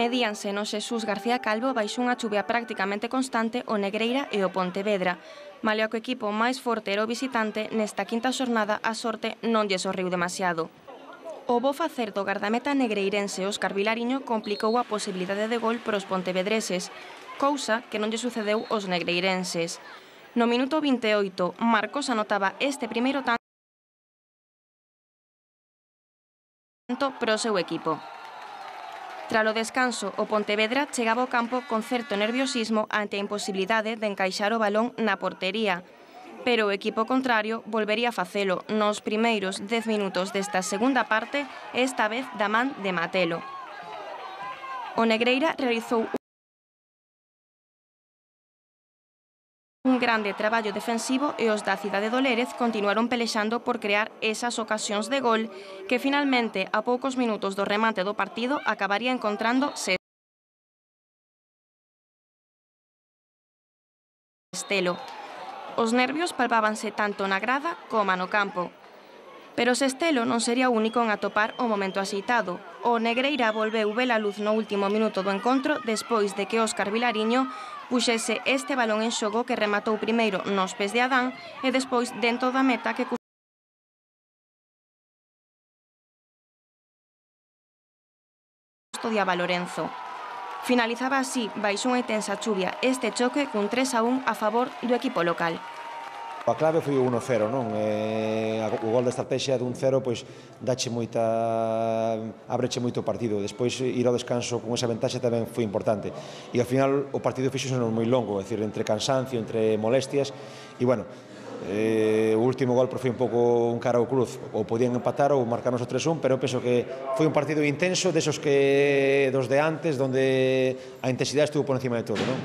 Medíanse no Xesús García Calvo baixo unha chuvia prácticamente constante o Negreira e o Pontevedra. Malia que o equipo máis forte era o visitante, nesta quinta xornada a sorte non lle sorriu demasiado. O bo facer do gardameta negreirense Óscar Vilariño complicou a posibilidade de gol para os pontevedreses, cousa que non lle sucedeu aos negreirenses. No minuto 28, Marcos anotaba este primeiro tanto para o seu equipo. Tralo descanso, o Pontevedra chegaba ao campo con certo nerviosismo ante a imposibilidade de encaixar o balón na portería, pero o equipo contrario volvería a facelo nos primeiros 10 minutos desta segunda parte, esta vez da man de Matelo. O Negreira realizou un grande traballo defensivo e os da cidade do Lérez continuaron pelexando por crear esas ocasións de gol que finalmente, a poucos minutos do remate do partido, acabaría encontrando Sestelo. Os nervios palpábanse tanto na grada como no campo. Pero Sestelo non sería o único en atopar o momento axeitado. O Negreira volveu ver a luz no último minuto do encontro despois de que Óscar Vilariño puxese este balón en xogo que rematou primeiro nos pés de Adán e despois dentro da meta que custodiaba Lorenzo. Finalizaba así, baixo unha intensa chuvia, este choque cun 3-1 a favor do equipo local. A clave foi o 1-0, non? O gol da estrategia dun 0 pois dache abreche moito o partido. Despois ir ao descanso con esa ventaxa tamén foi importante. E ao final o partido fixose moi longo, é dicir, entre cansancio, entre molestias e bueno, o último gol foi un pouco un cara ao cruz, ou podían empatar ou marcarnos o 3-1, pero eu penso que foi un partido intenso, desos que dos de antes, onde a intensidade estuvo por encima de todo, non?